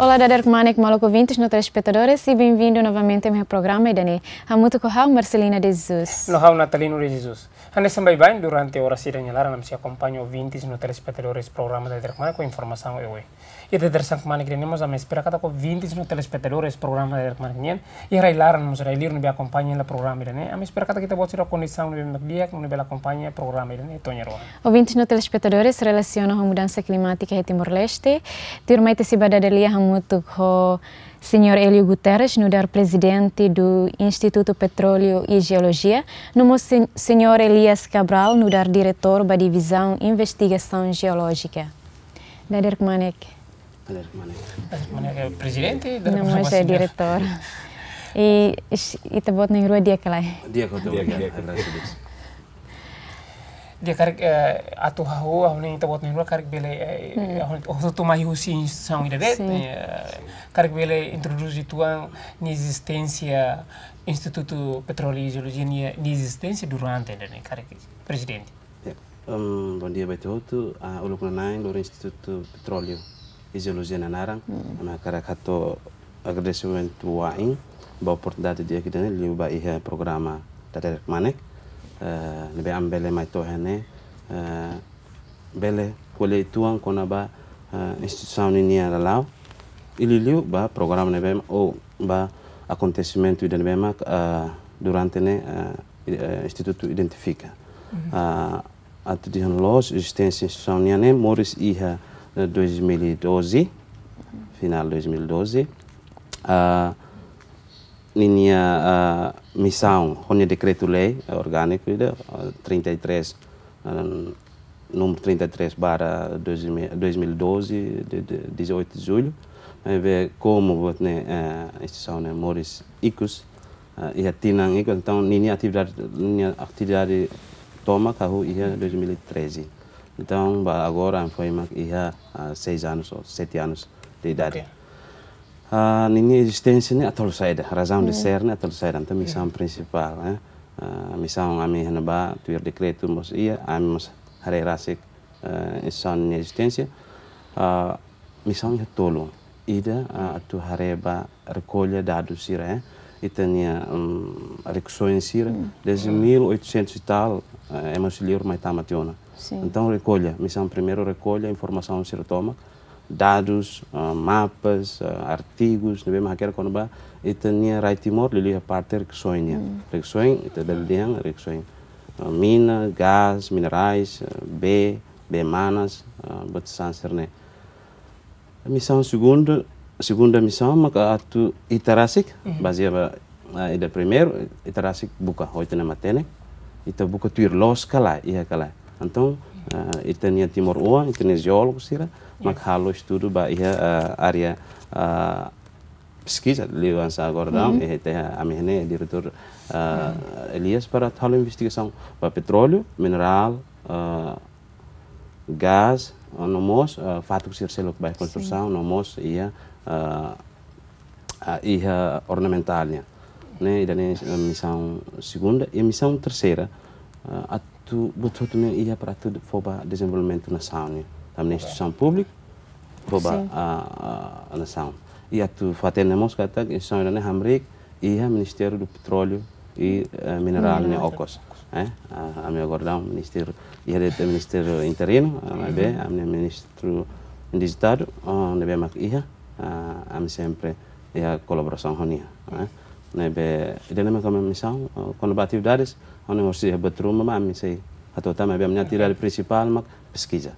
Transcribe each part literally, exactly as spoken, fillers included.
Olá, dadeer kmanek maluk ouvintes no telespetadores, e bem-vindo novamente ao meu programa ida-ne'e. Hamutuk ho ha'u, Marcelina de Jesus. No ha'u, Natalino de Jesus. Hanesan baibain, durante oras ida-ne'e laran ami sei akompaña ouvintes no telespetadores programa Dadeer Kmanek ho informasaun oioin. I dadeer-san kmanek ida-ne'e mós ami espera katak ouvintes no telespetadores programa Dadeer Kmanek nian, iha rai-laran mós rai-liur ne'ebé akompaña hela programa ida-ne'e, ami espera katak ita-boot sira kondisaun ne'ebé mak di'ak, ne'ebé bele akompaña programa ida-ne'e to'o ohin. Ouvintes no telespetadores, relasiona ho mudansa klimátika iha Timor-Leste, tuirmai ita sei bá dada lia hamutuk ho Señór Hélio Guterres, nu'udar prezidente do Instituto Petróleo e Geologia, no mós sen-, Señór Elias Cabral, nu'udar diretór ba Divizaun Investigasaun Jeolójika. Dadeer kmanek. Dadeer kmanek. Dadeer kmanek, eh, prezidente, dadeer kmanek, eh, señór diretór. I, is-, ita-boot na'in-rua di'ak ka lae? Di'ak, di'ak, di'ak, di'ak. Di'ak, karik, eh, atu hahú, hahú ne'e ita-boot na'in-rua karik bele, eh, hahú, hahú atu mai husi instituisaun ida de'it, sin, eh, karik bele introdús uitoan nia ezisténsia, Instituto Petróleo e Geologia nia, nia ezisténsia durante ne'e, karik, prezidente. Ya, em, bondia ba ita hotu, ah, uluk nanain, lori Instituto Petróleo e Geologia nia naran, ami hakarak hato'o agradesimentu wa'in ba oportunidade di'ak ida-ne'e, liu ba iha programa Dadeer Kmanek, eh, ne'ebé ami bele mai to'o iha ne'e, eh, bele ko'alia uitoan kona-ba, eh, instituisaun ninia lala'ok, i liuliu ba programa ne'ebé, ou ba akontesimentu ida ne'ebé mak, eh, durante ne'e, eh, i-, eh, Institutu identifika. Ah, atu dehan loos, ezisténsia instituisaun nian ne'e moris iha, eh, dois mil e doze, finál dois mil e doze. Ah, ninia, ah, misaun, ho nia dekretu-lei, eh, orgániku ida, ah, trinta e três, ah, número trinta e três barra dois mil, dois mil e doze, de, de dezoito de julho, ne'ebé komu buat ne'e, eh, instituisaun ne'e moris ikus, eh, iha tinan ikus, entaun ninia atividade, ninia atividade tomak hahú iha dois mil e treze. Entaun, ba agora, foin mak iha, ah, seis anos ou sete anos de idade. Ok. Ah, ninia ezisténsia ne'e atu halo saida, razaun de ser ne'e atu halo saida, entaun misaun prinsipál, eh. Ah, misaun ami iha ne'ebá, tuir dekretu mós iha, ami mós haree rasik, eh, instituisaun nia ezisténsia. Ah, misaun iha tolu. Ida, ah, atu haree ba rekolla dadus sira, eh. Ita-nia, mm, rikusoin sira, desde mil oitocentos e tal, eh, ema husi liur mai tama tiha ona. Sin. Entaun rekolla, misaun primeiru rekolla informasaun sira tomak, dadus, ah, mapas, ah, artigus, ne'ebé mak hakerek kona-ba ita-nia rai Timor, liuliu iha parte rikusoin nian. Rikusoin, ita bele dehan, rikusoin, ah, mina, gás, minerais, ah, bee, bee manas, ah, buat sasán sira-ne'e. Misaun segunda, segunda misaun maka atu ita rasik, bazeia ba, ah, ida primeiru, ita rasik buka, ho ita-nia matenek, ita buka tuir loos ka lae, iha ka lae. Entaun, ah, ita-nia timoroan, ita-nia jeólogu sira, mak halo estudu ba iha, ah, área, ah, peskiza, liuhusi agora daudaun, eh, ita, ami iha ne'e diretór, ah, Elias para halo investigasaun ba petróleu, minerál, ah, gás, ah, no mós, ah, fatuk sira seluk ba iha konstrusaun, no mós iha, ah, ah, iha ornamentál nian. Ne'e, ida-ne'e, eh, misaun segunda, i misaun terseira, ah, atu buat hotu ne'e iha para atu fó ba dezenvolvimentu nasaun nian. Tanba ne'e instituisaun públiku, fó ba, ah, ah, nasaun. I atu fó-hatene mós katak instituisaun ida-ne'e hamriik iha Ministériu do Petróleu i, eh, Minerál nian okos. Eh, ah, ami agora daudaun ministériu, iha de'it ministériu interinu, ah, maibé, ami-nia ministru indizitadu, ah, ne'ebé mak iha, ah, ami sempre iha kolaborasaun ho nia, eh. Ne'ebé, ida-ne'e mak ami-nia misaun, ah, kona-ba atividades, ha'u-nia hosi iha buat ruma, maibé ami sei hato'o tan, maibé ami-nia atividade prinsipál mak peskiza.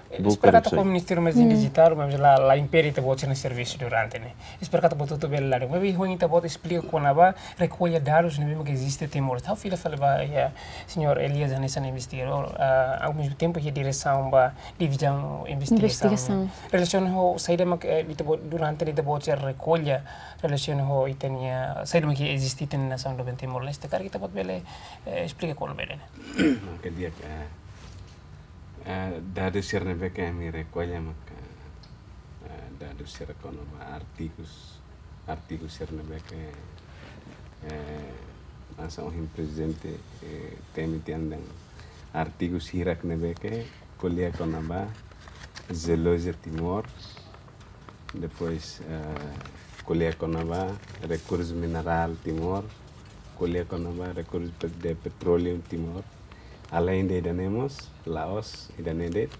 Eh, buka espera katak rikusoin. Ministériu mós indizitadu, maibé la, la impede ita-boot sira-nia servisu durante ne'e. Espera katak buat hotu bele ladún. Maibé ohin ita-boot esplika kona-ba rekolla dadus ne'ebé mak eziste Timor. Ha'u fila fali ba iha señór Elias hanesan investigadór, ah, ao mesmo tempo iha diresaun ba divizaun investigasaun. Investigasaun. Relasiona ho saida mak, eh, ita-boot durante ne'e ita-boot sira rekolla, relasiona ho ita-nia, saida mak eziste ita-nia nasaun doben Timor-Leste. Karik ita-boot bele, eh, esplika kona-ba ida-ne'e. Oke, di'ak, eh, eh, dadus sira ne'ebé ke ami rekolla maka, eh, dadus sira kona-ba artigus, artigus sira ne'ebé ke, eh, hanesan ohin prezidente, eh, temi tiha ona dehan artigus hirak ne'ebé ke ko'alia kona-ba jeolojia Timor, depois, eh, ko'alia kona-ba rekursu minerál Timor, ko'alia kona-ba rekursu pe-, de petróleu Timor. Além de ida-ne'e mós, la'ós ida-ne'e de'it,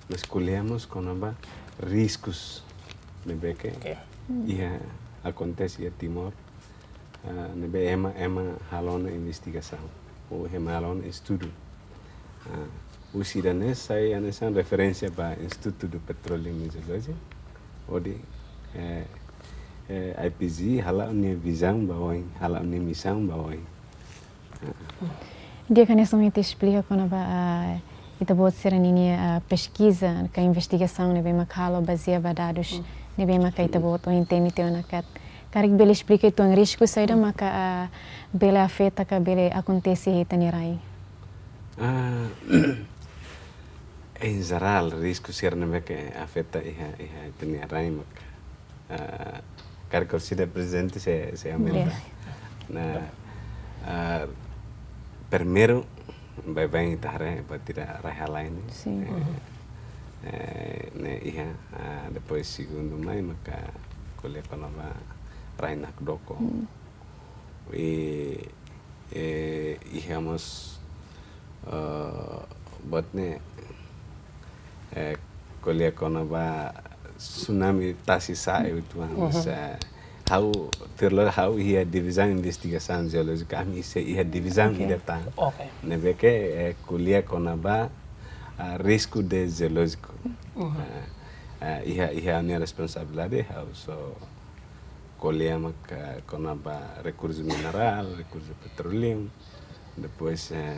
mas ko'alia mós kona-ba riskus ne'ebé ke, oke, iha akontese iha Timor, ah, ne'ebé ema, ema halo ona investigasaun, ou ema halo ona estudu. Ah, husi ida-ne'e sai hanesan referénsia ba Instituto de Petróleo e Geologia, hodi, eh, eh, I P G hala'o nia vizaun ba oin, hala'o nia misaun ba oin. Di'ak, hanesan ita esplika kona-ba, ah, ita-boot sira-ninia, ah, peskiza ka investigasaun ne'ebé mak halo bazeia ba dadus, hmm, ne'ebé mak ita-boot ohin temi tiha ona katak. Karik bele esplika uitoan risku saida maka, ah, bele afeta ka bele akontese iha ita-nia rai? Ah, em geral, risku sira ne'ebé ke afeta iha, iha ita-nia rai mak, ah, karik orsida prezente sei, sei aumenta. Iya. Nah, ah, primeiru, baibain ita haree, buat ida rai-halai ne'e. Sin. Eh, eh, ne'e iha, ah, depois segundu mai maka ko'alia kona-ba rai nakdoko. Hmm. I, eh, iha mós, eh, buat ne'e, eh, ko'alia kona-ba tsunami tasi sa'e uitoan. Mhm. Sa, ha'u, tuir ha'u iha divizaun investigasaun jeolójika, ami sei iha divizaun, oke, ida tan. Oke. Ne'ebé ke, eh, ko'alia kona-ba, ah, risku de jeolójiku. Mhm. Ah, ah, iha, iha nia responsabilidade, ha'u só ko'alia maka kona-ba rekursu minerál, rekursu petróleu, depois, eh,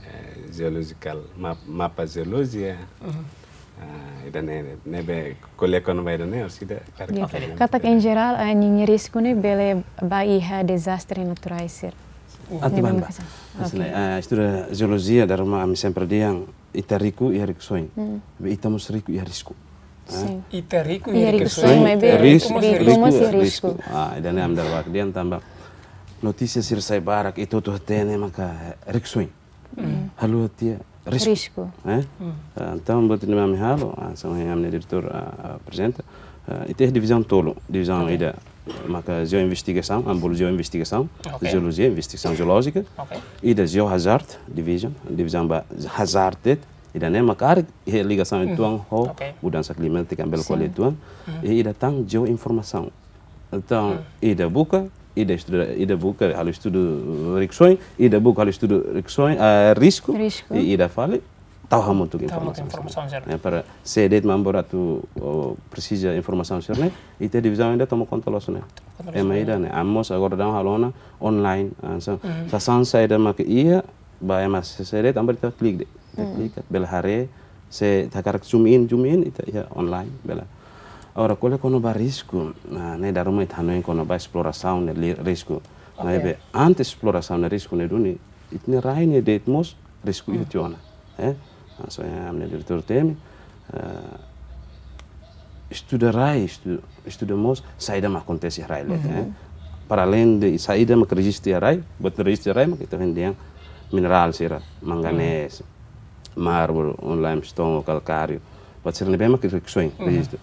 eh, geolójikal, ma-, mapa jeolojia. Mhm. Ah, ida-ne'e, ne'ebé ko'alia kona-ba ida-ne'e, orsida karik, oke, ita katak en jerál, eh, ninia risku ne'e bele ba iha dezastre naturais sira. Atu, ne'ebé bá, bá, maka sa-, hanesan, oke, eh, estuda jeolojia, dala ruma ami sempre dehan, ita riku iha rikusoin. Hmm. Be ita mós riku iha risku. Eh? Sin. Ita riku iha, iha rikusoin, rikusoin, maibé risku, risku, risku mós iha risku. Risku. Ah, ida-ne'e ami dala barak dehan tanba notísia sira sai barak, ita hotu hatene maka rikusoin. Hmm. Haluha tiha risku. Risku. Eh? Hmm. Ah, entaun, buat ne'ebé ami halo, ah, hanesan ami-nia diretór, ah, ah, aprezenta, ah, ita iha divizaun tolu, divizaun, oke, ida maka jeoinvestigasaun, ami bolu jeoinvestigasaun, oke, jeolojia, investigasaun jeolójika. Oke. Ida geohazard division, divizaun ba hazard de'it, ida-ne'e maka karik iha ligasaun, hmm, uitoan ho, oke, mudansa klimátika ami bele, sin, ko'alia uitoan. Hmm. I ida tan jeoinformasaun. Entaun, hmm, ida buka, ida estuda, ida buka halo estudu rikusoin, ida buka halo estudu rikusoin, ah, risku, risku, i ida fali tau hamutuk, tau hamutuk informasaun, informasaun sira. Ya, para se de'it mak ami-boot atu, oh, presiza informasaun sira-ne'e, ita divizaun ida toma konta loos ne'e. Toma konta loos. Ema ida ne'e, ami mós agora daudaun halo ona online, ah, so, hmm, sasán saida maka iha, ba ema se, se de'it, tanba ita klik de'it. Ita, hmm, klik, bele haree, se ita hakarak zoom in, zoom in, ita iha online, bele. Agora, ko'alia kona-ba risku, nah, ne'e dala ruma ita hanoin kona-ba esplorasaun ne'e li-, risku. Oke. Maibé, antes esplorasaun ne'e risku ne'e duni, ita-nia rai ne'e de'it mós risku, hmm, iha tiha ona, eh? Hanesan ami-nia diretór temi, eh, estuda rai, estu-, estuda mós saida mak akontese iha rai de'it, mhm, eh? Para além de saida mak rejistu iha rai, buat rejistu iha rai mak ita dehan minerál sira, manganés, mhm, mármore, limestone, kalkáriu, buat sira ne'ebé mak rikusoin, mhm, rejistu.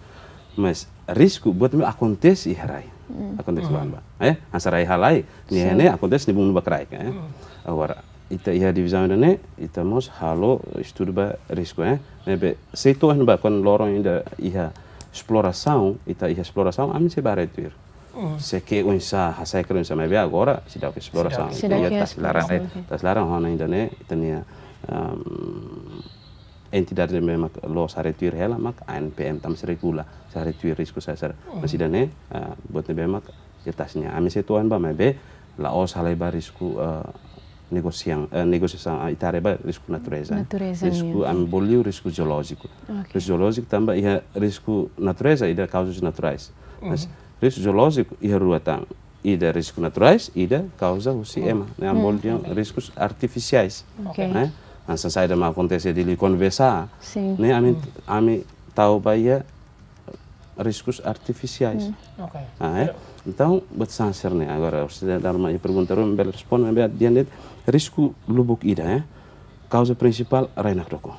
Mas risku buat ne'ebé akontese iha rai. Mhm. Akontese, mhm, ba, ba. Eh, hanesan rai-halai, nia, sin, ne'e akontese ne'e buat ne'ebé ba kraik, eh. Mhm. Agora, ita iha divizaun ida-ne'e, ita mós halo estudu ba risku, eh. Ne'ebé, se ita haree ba kuandu loron ida iha esplorasaun, ita iha esplorasaun, ami sei bá haree tuir. Mhm. Sé ke oinsá, hasai ke oinsá, maibé agora seidauk iha esplorasaun. Seidauk. Seidauk iha, iha esplorasaun, esplorasaun, oke. Ita esplorasaun, entaun ne'e, ita-nia, ehm, entidade ne'ebé mak loos haree tuir hela mak A N P M, tanba sei regula, sei haree tuir risku sira-ne'e. Mhm. Mas ida-ne'e, ah, buat ne'ebé mak iha tasak nia. Ami sei to'o ba, maibé la'ós halai ba risku, ah, negosiasaun, ah, negosiasaun, ah, ita haree ba risku natureza. Natureza, risku, ya, ami bolu risku jeolójiku. Oke. Risku jeolójiku tanba iha risku natureza, ida kauzas naturais. Mas, mhm, risku jeolójiku iha rua tan. Ida risku naturais, ida kauza husi, mhm, ema. Ne'e ami bolu, mhm, dehan, oke, riskus artifisiais. Oke. Eh? Hanesan saida mak akontese Dili Konvesa. Sin. Ne'e ami, mhm, ami tau ba iha riskus artifisiais. Hmm. Oke. Ah, eh? Ya. Entaun, buat sira-ne'e agora, se dala ruma iha pergunta ruma bele responde, bele dehan de'it risku lubuk ida, eh? Kauza prinsipál rai nakdoko.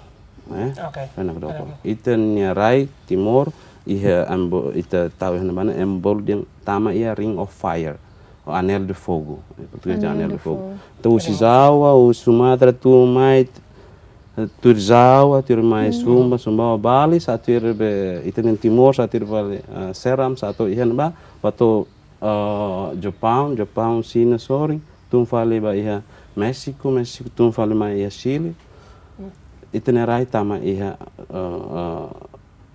Eh? Oke. Rai nakdoko. Rai nakdoko. Ita-nia rai Timor, Iha ema bolu, ita tau iha ne'ebá ne'e, ema bolu dehan tama iha Ring of Fire, ou Anel de Fogo. Em português é Anel de Fogo. Entaun, husi Jawa, husi Sumatra, tun mai, tuir Jawa, tuir mai Sumba, Sumbawa Bali, sa'e tuir be, ita-nia Timor, sa'e tuir fali, ah, Seram, sa'e to'o iha ne'ebá, bá to'o, ah, Japaun, Japaun, Xina, sorin, tun fali ba iha Méxiku, Méxiku, tun fali mai iha Chile. Ita-nia rai tama iha, ah, ah,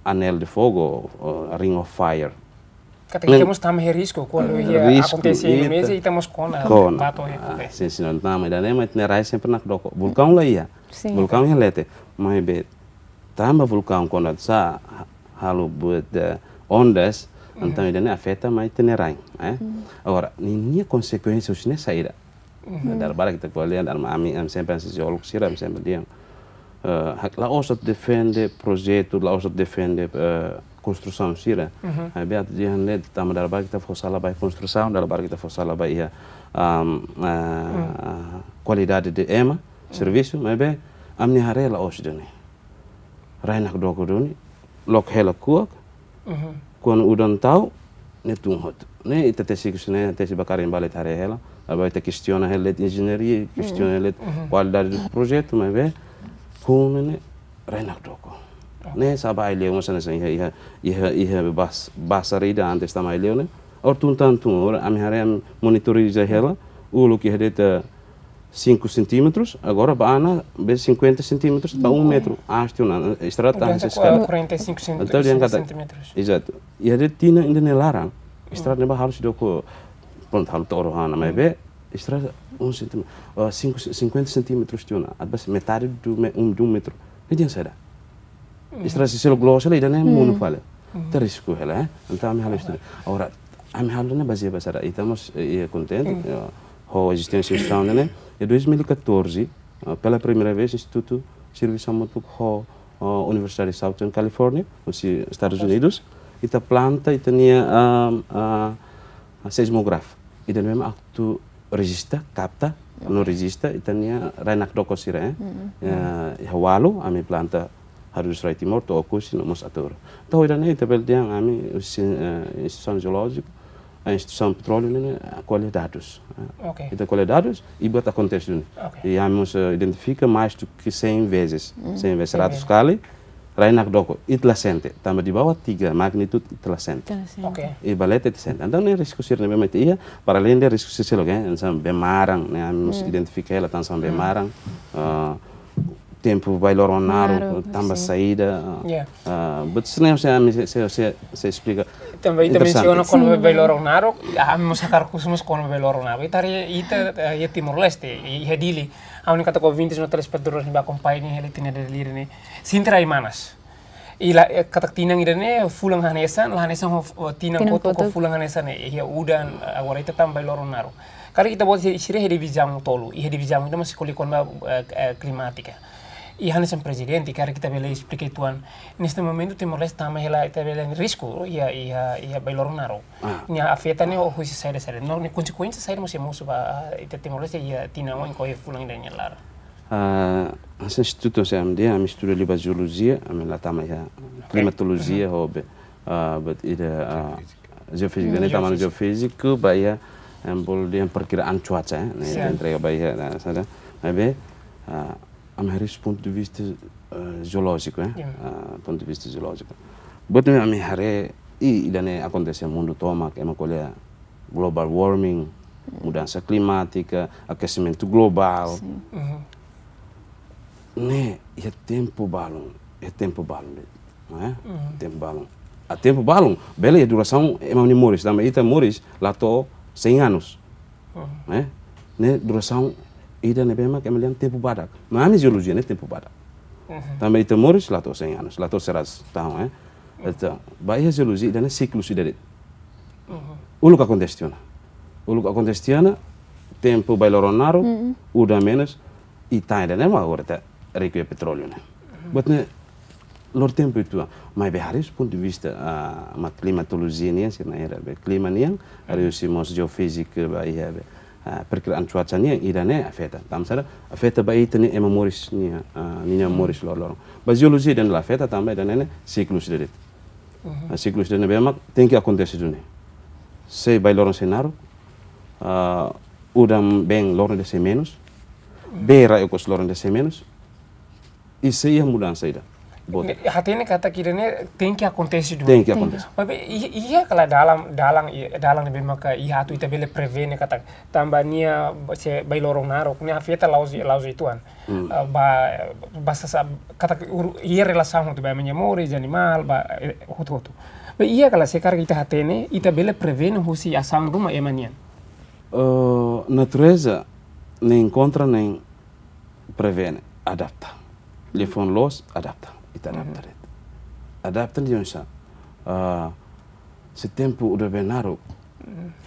Anel de Fogo, ou Ring of Fire. Katak ita mós tama iha risku, kuandu iha akontese iha Indonézia, ita mós kona, kona. Bá to'o iha. Ah, akontese. Sin, sin, entaun, ida-ne'e mak ita-nia rai sempre nakdoko. Vulkaun la iha. Sin. Vulkaun iha leten. Maibé, tanba vulkaun kuandu sa'e, halo buat, eh, ondas, entaun ida-ne'e afeta mai ita-nia rai, eh. Agora, ninia konsekuénsia husi ne'e saida? Dala barak ita ko'alia, dala, ami, ami sempre, ansi jeólogu sira, ami sempre dehan, eh, hak, la'ós atu defende projetu, la'ós atu defende, eh, konstrusaun sira. Maibé atu dehan de'it, tanba dala barak ita fó sala ba konstrusaun, dala barak ita fó sala ba iha, am, eh, kualidade de ema, servisu, maibé ami-nia haree la'ós ida-ne'e. Rai nakdoko duni, loke hela kuak, kuandu udan tau, ne'e tun hotu. Ne'e ita tesi husi ne'e, tesi ba karik ema bele haree hela, agora ita kestiona hela de'it enjeñaria, kestiona hela de'it kualidade do projetu, maibé, hun ne'e, rai nakdoko. Ne'e sa'e ba ai-leu mós hanesan iha, iha, iha, iha bas-, basar ida antes tama ai-leu ne'e. Agora tun tan tun, agora ami haree, ami monitoriza hela, uluk iha de'it, eh, cinco centímetros, agora ba ona be cinquenta centímetros ba um metro. Acho que na estrada tá. Mudansa hanesan ko-, quarenta e cinco cent-, centímetros. Entaun, dehan katak, exato. Iha de'it tinan ida-ne'e laran, estrada ne'ebá halo seidauk, pronto, halo to'o rua ona, maibé estrada um centímetro, ah, cinco, cinquenta centímetros tiha ona, atu bá metade do me-, um, de um metro. Ne'e dehan saida? Estrada sei seluk loos hela, ida-ne'e monu fali. Ita risku hela, eh? Entaun, ami halo estudu. Agora, ami halo ne'e bazeia ba saida? Ita mós, eh, eh, kontente, eh, ho ezisténsia instituisaun ne'e, ne'e. Em dois mil e catorze, eh, pela primeira vez, Institutu servisu hamutuk ho, eh, Universidade de Southern California, husi Estadus Unidus, ita planta, ita-nia, ah, ah, seismógrafu. Ida-ne'e mak atu rejista, kapta, no rejista, ita-nia rai nakdoko sira, eh. Ya, iha Walu, ami planta Hardus Rai Timor, to'o Oekusi, no mós Ataúro. Entaun, ida-ne'e, ita bele dehan, ami, husi, eh, instituisaun jeolójika, eh, instituisaun petróleu ne'e, eh, ko'alia dadus, eh. Ita ko'alia dadus, i buat akontese duni. I ami mós, eh, identifika mais do que cem vezes. Cem vezes, seratus kali, rai nakdoko, ita la sente. Tanba di bawah tiga magnitude, ita la sente. Ita la sente. I ba leten ita sente. Entaun, ne'e risku sira ne'ebé mak ita iha, para além de risku sira seluk, eh, hanesan bee maran, ne'e, ami mós identifika hela, hanesan bee maran, ah, tempu bailoro naruk, tanba saida, ah, buat sira-ne'e, se ami, se, se, se, se esplika. Tanba ita mensiona kona-ba bailoro naruk, ami mós hakarak husu mós kona-ba bailoro naruk. Ita haree, ita, eh, iha Timor-Leste, iha Dili, ami hatene katak ouvintes no telespetadores ne'ebé akompaña hela ita-nia dadeer-lira ne'e, sente rai manas. I la, eh, katak tinan ida-ne'e, fulan hanesan, la hanesan ho, ho tinan kotuk, ho fulan hanesan ne'e, iha udan, eh, agora ita tama bailoro naruk. Karik ita-boot sira iha divizaun tolu, iha divizaun ida mak sei ko'alia kona-ba, eh, eh, klimátika. I hanesan prezidente, karik ita bele esplika uitoan, neste momento Timor-Leste tama hela, ita bele risku, iha, iha, iha bailoro naruk. Nia afeta ne'e husi saida, saida. No, nia konsekuénsia saida mós sei mosu ba, ah, ita Timor-Leste iha tinan oin ka iha fulan ida nia laran. Ah, hanesan institutu, se ami dehan, ami estuda liu ba jeolojia, ami la tama iha klimatolojia, ho be, ah, buat ida, ah, jeofízika, ne'e tama no jeofíziku, ba iha, ema bolu dehan perkiraan cuaca, eh, ne'e entrega ba iha, ne'e, saida. Maibé, ah, ami haree husi pontu de vista, eh, jeolójiku, eh. Ah, pontu de vista jeolójiku. Buat ne'ebé ami haree, i, ida-ne'e akontese mundu tomak, ema ko'alia global warming, mudansa klimátika, akesimentu globál. Ne'e, iha tempu balun, iha tempu balun, eh? Tempu balun. Ah, tempu balun, bele iha durasaun ema nia moris, tanba ita moris la to'o cem anos. Eh? Ne'e durasaun ida ne'ebé mak ema dehan tempu badak. Mas ami jeolojia ne'e tempu badak. Tanba ita moris la to'o cem anos, la to'o seratus tahun, eh. Entaun, ba iha jeolojia ida-ne'e siklus ida de'it. Uluk akontese tiha ona. Uluk akontese tiha ona, tempu bailoro naruk, udan menus, i tan ida-ne'e mak agora ita riku iha petróleu ne'e. Buat ne'e lori tempu uitoan. Maibé haree husi pontu de vista, ah, mak klimatolojia nian, sira-ne'e haree be klima nian, haree husi mós jeofízika ba iha be, ah, perkiraan cuaca nian, ida-ne'e afeta. Tanba saida? Afeta ba ita-nia ema moris nian, ah, ninia moris loroloron. Ba jeolojia ida-ne'e la afeta, tanba ida-ne'e ne'e siklus ida de'it. Ah, siklus ida ne'ebé mak tenke akontese duni. Se bee loron sei naruk, ah, udan-been loron ida sei menus, bee rai okos loron ida sei menus, i sei iha mudansa ida. Boot. Ne'e, hatene katak ida-ne'e tenke akontese duni. Tenke akontese. Maibé, i-, iha kala dalan, dalan, i-, dalan ne'ebé maka iha atu ita bele prevene katak tanba nia se bee loron naruk, nia afeta la'ós, la'ós uitoan. Hmm. Ah, ba, ba sasa, katak ur-, iha relasaun hotu ba ema nia moris, animál, ba, eh, hotu-hotu. Maibé iha kala se karik ita hatene, ita bele prevene husi asaun ruma ema nian. Eh, natureza ne'e enkontra ne'e prevene, adapta. Liafuan loos, adapta. Ita adapta de'it. Adapta de'it oinsá? Ah, se tempu udan-been naruk.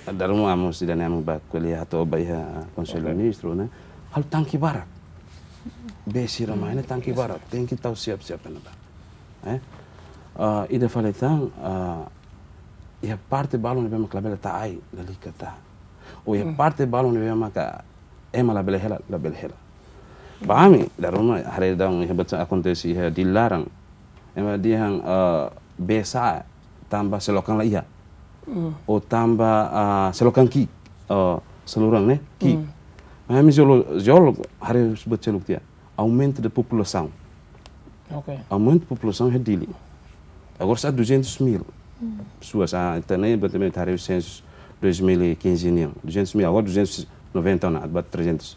Dala ruma ami sira ne'e ami bá ko'alia atu bá iha Konsellu Ministru ne'e. Halo tanke barak. Bee sira mai ne'e tanke barak. Tenke tau siap-siap ne'ebá. Eh? Ah, ida fali tan, ah, iha parte balun ne'ebé mak labele tau ai, lalika tau. Ou iha parte balun ne'ebé maka ema labele hela, labele hela. Ba ami, dala ruma, haree daudaun iha buat akontese iha Dili laran. Ema dehan, eh, bee sa'e tanba selokan la iha. Ou tanba, ah, selokan ki'ik, eh, saluran ne'e, ki'ik. Maibé ami jeólo-, jeólogu, haree buat seluk tiha. Aumento da populasaun. Ok. Aumento da populasaun iha Dili. Agora está duzentos mil pessoas. Ah, ita ne'e, basicamente, haree sensus dois mil e quinze nian. Duzentos mil, agora duzentos e noventa ona, ba trezentos.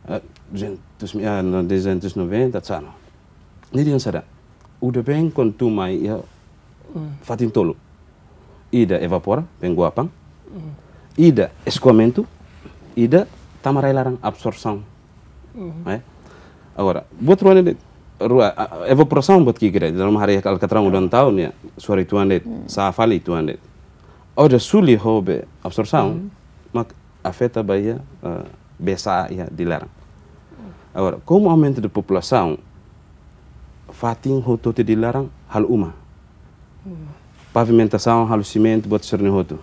Ah, duzentos mil, ah, no, duzentos e noventa, sana. Ne'e dehan saida? Udan-been kuandu tun mai iha fatin tolu. Ida evapora, been guapan. Ida eskoamentu, ida tama rai laran, absorsaun. Eh? Agora, buat rua ne'e de'it, rua, ah, evaporasaun buat ki'ik ida, dala ruma haree alkatran udan tau nia, suar uitoan de'it, sa'e fali uitoan de'it. Oda suli ho bee absorsaun, mak afeta ba iha, eh, bee sa'e iha Dili laran. Agora, komu aumento da populasaun, fatin hotu-hotu Dili laran halo uma. Pavimentasaun halo simentu, buat sira-ne'e hotu.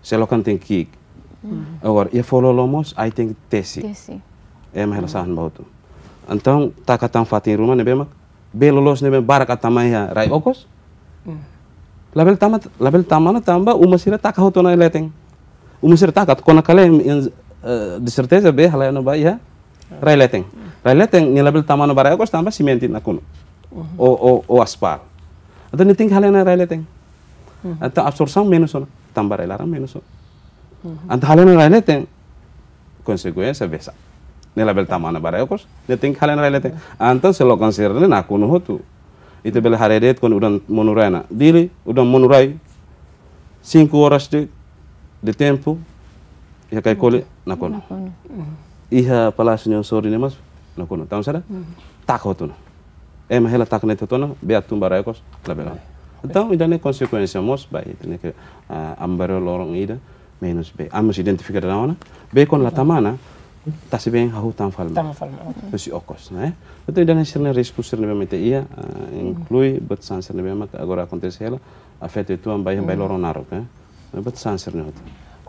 Selokan tenke ki'ik. Agora, iha foho-lolon mós, ai tenke tesi. Tesi. Ema hela sa'e ba hotu. Entaun, taka tan fatin ruma ne'ebé mak bee loloos ne'ebé barak atu tama iha rai okos. Labele tama, labele tama ona tanba uma sira taka hotu ona iha leten. Uma sira taka, kona-ba kalen, eh, de certeza bee halai ona ba iha rai leten. Rai leten, nia labele tama ona ba rai okos tanba simentu nakonu. Ou, ou, ou aspal. Entaun nia tenke halai ona rai leten. Entaun absorsaun menus ona, tama ba rai laran menus ona. Entaun halai ona rai leten, konsekuénsia bee sa'e. Nia labele tama ona ba rai okos, nia tenke halai ona rai leten. Entaun selokan sira-ne'e nakonu hotu. Ita bele haree de'it kuandu udan monu rai ona. Dili, udan monu rai. Cinco horas de, de tempo. Iha Caicoli, nakonu. Nakonu. Iha Palásiu nia sorin ne'e mós, nakonu. Tanba saida? Taka hotu ona. Ema hela taka ne'e hotu ona, bee atu tun ba rai okos, labele. Entaun, ida-ne'e konsekuénsia mós, ba, ita-nia ke, ah, ami bá rua loron ida, menus bee. Ami mós identifika daudaun ona, bee kuandu la tama ona, tasi been hahú tama fali mai. Tama fali mai, ok. Husi okos, ne'e? Entaun, ida-ne'e sira-ne'e risku sira ne'ebé mak ita iha, ah, inklui buat sasán sira ne'ebé mak agora akontese hela, afeta uitoan ba iha bee loron naruk, eh? Buat sasán sira-ne'e hotu.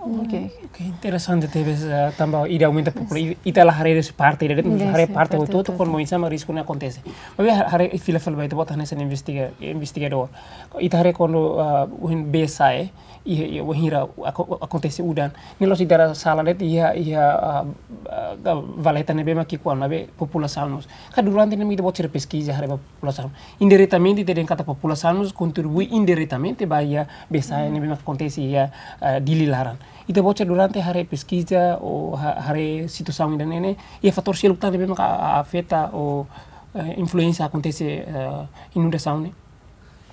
Ok. Ok, interesante tebes, eh, tanba ida aumenta popula-, i-, ita la haree husi parte ida de'it, haree parte hotu-hotu, kuandu oinsá mak risku ne'e akontese. Maibé ha-, haree fila fali ba ita-boot hanesan investiga-, investigadór. Ita haree kuandu, ah, ohin bee sa'e, i, i, wainhira ako-, akontese udan. Ne'e la'ós ita-nia sala de'it iha, iha, ah, ah, valeta ne'ebé mak ki'ik-oan, maibé populasaun mós. Ka durante ne'e ita-boot sira peskiza haree ba populasaun. Indiretamente ita dehan katak populasaun mós kontribui indiretamente ba iha bee sa'e ne'ebé mak akontese iha, ah, Dili laran. Ita-boot sira durante haree peskiza ou ha-, haree situasaun ida-ne'e, iha fatór seluk tan ne'ebé mak a-, a-, afeta ou, eh, influénsia akontese, eh, inundasaun ne'e?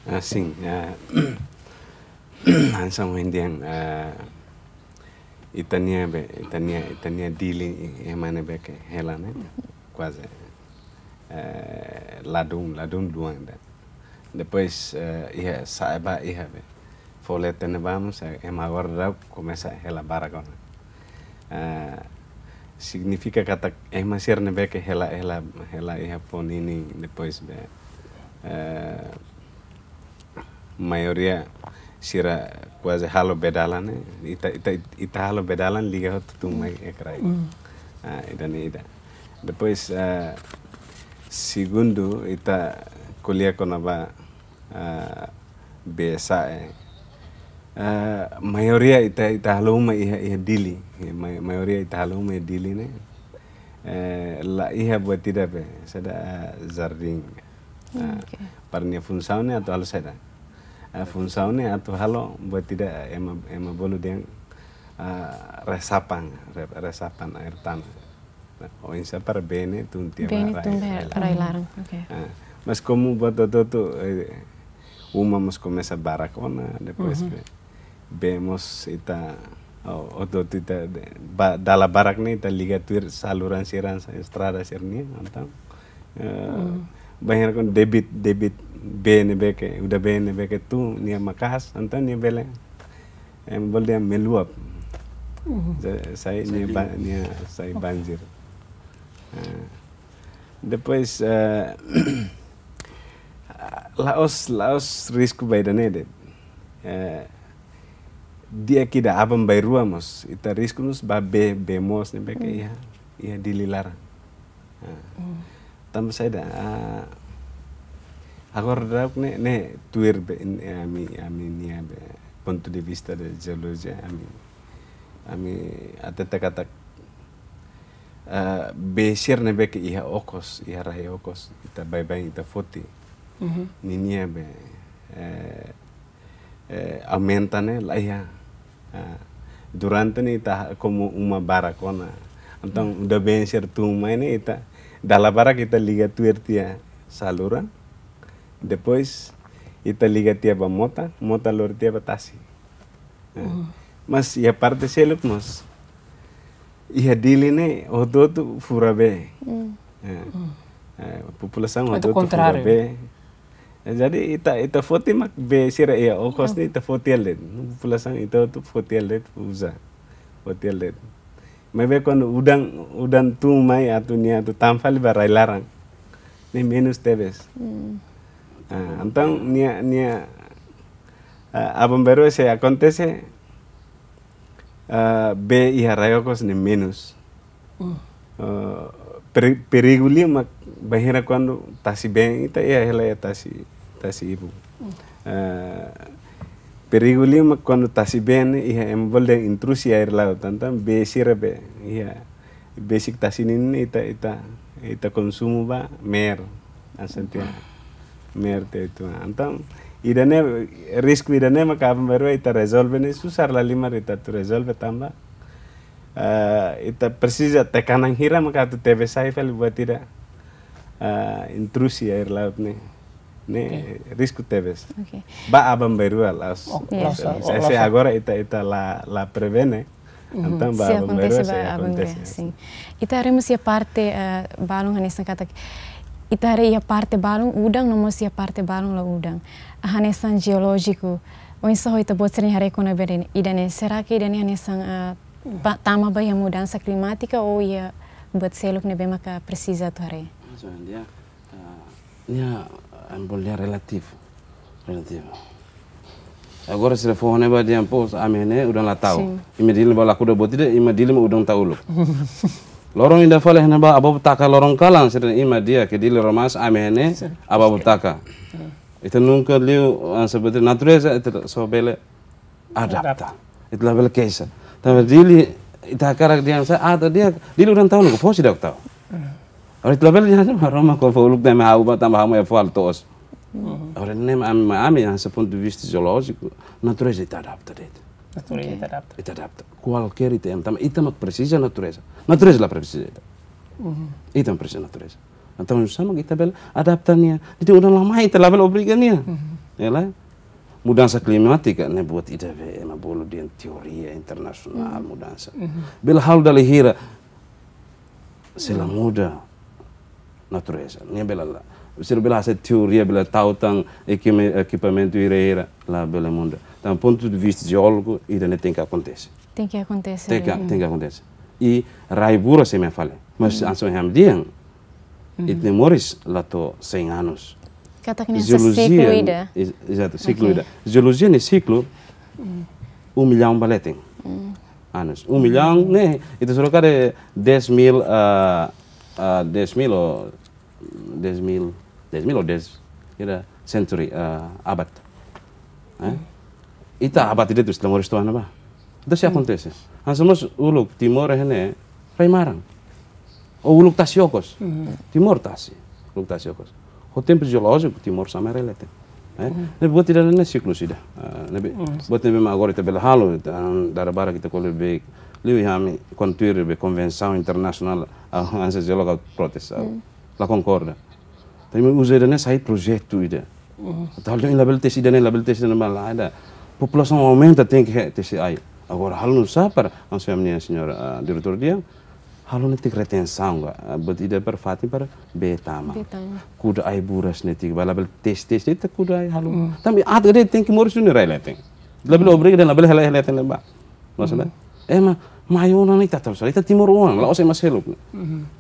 Ah, sin, ah, hanesan ohin dehan, ah, ita-nia be, ita-nia, ita-nia Dili, ema ne'ebé ke hela ne'e, kuaze, eh, ladún, ladún luan ida. Depois, eh, iha sa'e ba iha be. Foho leten ne'ebá mós, eh, ema agora daudaun komesa hela barak ona. Eh, signifika katak ema sira ne'ebé ke hela, hela, hela iha foho ninin depois be, eh, maioria sira kuaze halo bee dalan ne'e, ita, ita, ita halo bee dalan liga hotu tun mai iha kraik. Ah, ida-ne'e ida. Depois, ah, segundu, ita ko'alia kona-ba, ah, bee sa'e. Eh, maioria ita, ita halo uma iha, iha Dili. Eh, mai-, maioria ita halo uma iha Dili ne'e. Eh, la iha buat ida be, saida, eh, jardín. Ah, oke. Para nia funsaun ne'e atu halo saida. Eh, funsaun ne'e atu halo buat ida ema, ema bolu dehan, ah, resapan, re-, resapan air tanah. Oinsá para bee ne'e tun tiha ba rai, tun ba rai laran. Rai laran, oke. Ah, mas komu buat hotu-hotu, eh, uma mós komesa barak ona, depois be, bee mós ita, oh, hotu-hotu ita, ba, dala barak ne'e ita liga tuir saluran sira, estrada sira-nian, entaun, eh, bainhira kuandu debit, debit bee ne'ebé ke, udan bee ne'ebé ke tun, nia maka'as, entaun nia bele, ema bolu dehan meluap. Sa-, sai nia ba-, nia sai banjir. Ah. Depois, eh, la'ós, la'ós risku ba ida-ne'e de'it. Eh, di'ak ida aban-bainrua mós, ita risku mós ba bee, bee moos ne'ebé ke iha, iha Dili laran. Ah. Tanba saida, ah, agora daudaun ne'e, ne'e tuir be, in-, ami, ami-nia be, pontu de vista de jeolojia, ami, ami hatete katak, eh, bee sira ne'ebé ke iha okos, iha rai okos, ita baibain ita foti. Ninia be, eh, eh, aumenta ne'e la iha. Ah, durante ne'e ita komu uma barak ona. Entaun udan bee sira tun mai ne'e ita, dala barak ita liga tuir tiha saluran. Depois ita liga tiha ba mota, mota lori tiha ba tasi. Ah, mas iha parte seluk mós. Iha Dili ne'e hotu-hotu fura bee. Eh, eh, populasaun hotu-hotu fura bee. Eh, jadi ita, ita foti mak bee sira iha okos ne'e ita foti hela de'it. Populasaun ita hotu foti hela de'it uza. Foti hela de'it. Maibé kuandu udan, udan tun mai atu nia atu tama fali ba rai laran. Ne'e menus tebes. Ah, entaun nia, nia, ah, aban-bainrua sei akontese, ah, bee iha rai okos ne'e menus. Ah, peri-, perigu liu mak bainhira kuandu tasi-been ita iha hela iha tasi, tasi-ibun. Ah, perigu liu mak kuandu tasi-been iha ema bolu dehan intrusi air laut, entaun bee sira be iha besik tasi ninin ita, ita, ita konsumu ba meer, asantia meer te itu. Entaun ida-ne'e, risku ida-ne'e maka aban-bainrua ita rezolve ne'e susar lahalimar ita atu rezolve tanba, eh, ita presiza tekanan hira maka atu tebes sai fali buat ida, eh, intrusi air laut ne'e. Ne'e risku tebes. Oke. Ba aban-bainrua la'ós. Oh, ya. La'ós, se, oh, se, la'ós. Se agora ita, ita la, la prevene, entaun ba aban-bainrua sei akontese. Sin. Ita haree mós iha parte, eh, balun hanesan katak, ita haree iha parte balun udan, no mós iha parte balun la udan. Hanesan jeolójiku, oinsá ho ita-boot sira-nia haree kona-ba ida-ne'e, será que ida-ne'e hanesan, eh, ba, tama ba iha mudansa klimátika ou iha buat seluk ne'ebé maka presiza atu haree? Maksudnya, ah, nia, ah, ema bolu dehan relativu. Relativu. Agora sira fó ne'ebá dehan pos, ami ne'e udan la tau. Sin. Imi Dili ba la kuda buat ida, imi Dili mak udan tau uluk. Loron ida fali ne'ebá, abu taka loron kalan, sira imi di'ak, Dili Romas, ami ne'e, sin, abu taka. Ita nunka liu, ah, seperti natureza, ita só bele adapta. Adapta. Ita labele keixa. Tanba Dili, ita hakarak dehan sá, ah, ita di'ak, Dili udan tau, no fosi dak tau. Agora ita labele dehan sá, Maromak ko'alia fó uluk ne'e ha'u ba tanba ha'u mak fó halo to'os. Agora ne'e ami, ami, ami, hanesan pontu de vista jeolójiku, natureza ita adapta de'it. Natureza ita adapta. Ita adapta. Kualkér ita ema, tanba ita mak presiza natureza. Natureza la presiza ita. Ita mak presiza natureza. Entaun, oinsá mak ita bele adapta nia. Ita udan la mai, ita labele obriga nia. Ya la? Mudansa klimátika ne'e buat ida be ema bolu dehan teoria internasionál mudansa. Bele halo dala hira se la muda natureza. Nia bele la. Sira bele hasai teoria, bele tau tan ekime-, ekipamentu hira-hira, labele muda. Tanba pontu de vista jeolójiku, ida-ne'e tenke akontese. Tenke akontese. Tenke, tenke akontese. I rai bura sei mai fali. Mas hanesan ami dehan, ita-nia moris la to'o cem anos. Katak ne'e hanesan siklu ida. Jeolojia, ex-, exato, siklu ida. Jeolojia ne'e siklu um milhão ba leten. Anos. Um milhão ne'e, ita sura kada dez mil, ah, ah, dez mil ou dez mil, dez mil ou dez, ida century, ah, abad. Eh? Ita abate de'it husi Timor-Leste ona ba. Entaun sei akontese. Hanesan mós uluk Timor iha ne'e rai maran. Ou uluk tasi okos. Timor tasi. Uluk tasi okos. Ho tempu jeolójiku Timor sama rai leten. Eh? Ne'ebé buat ida-ne'e siklu ida. Ah, ne'ebé buat ne'ebé mak agora ita bele halo, ah, dala barak ita ko'alia be. Liu iha ami kontuir be konvensaun internasionál, ah, hanesan jeólogu protes, ah, la konkorda. Entaun ami uza ida-ne'e sai projetu ida. Entaun labele tesi ida-ne'e, labele tesi ida-ne'e, bala ida. Populasaun aumenta, tenke tesi ai. Agora halo nu'usá para, hanesan ami-nia señór, ah, diretór dehan, halo netik retensaun ka, ah, buat ida para fatin para bee tama. Bee tama. Kuda ai buras netik, bala labele tesi, tesi, ita kuda ai halo. Tanba aat de'it tenke moris duni rai leten. Labele obriga de'it, labele hela, hela leten ba. Maksudnya, eh, ma, mai ona ne'e ita tahu, ita timoroan, la'ós ema seluk.